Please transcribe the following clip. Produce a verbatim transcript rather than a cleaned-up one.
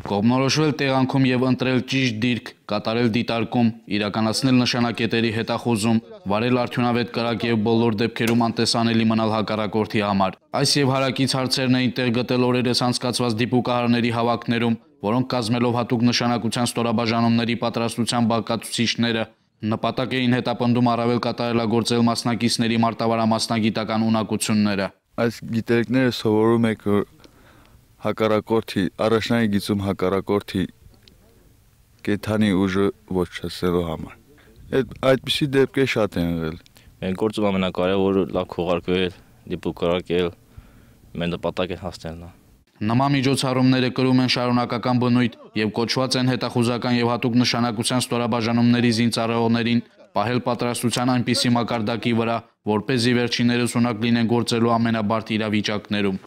Կողմնորոշվել տեղանքում և ընտրել ճիշտ դիրք, կատարել դիտարկում, իրականացնել նշանակետերի հետախուզում, վարել արդյունավետ կրակ և բոլոր դեպքերում անտեսանելի մնալ հակառակորդի համար։ Այս և հարակից հարցերն էին տեղ գտել օրերս անցկացված դիպուկահարների հավաքներում, որոնք կազմելով հատուկ նշանակության ստորաբաժանումների պատրաստության բաղկացուցիչները, նպատակ էին հետապնդում առավել կատարելագործել մասնակիցների մարտավարամասնագիտական ունակությունները։ Այս գիտելիքները սովորում եք հակառակորդի, առաջնային գիծում հակառակորդի կենդանի ուժը ոչնչացնելու համար։ Այդպիսի դեպքեր շատ են եղել։ Մեր գործում ամենակարևորը լավ քողարկվել, դիպուկարակել, մեր նպատակին հասնելն է։ Նման միջոցառումները կրում են շարունակական բնույթ և կոչված են հետախուզական և հատուկ նշանակության ստորաբաժանումների զինծառայողներին պահել պատրաստության այնպիսի մակարդակի վրա, որպեսզի վերջիններս ունակ լինեն գործելու ամենաբարդ իրավիճակներում։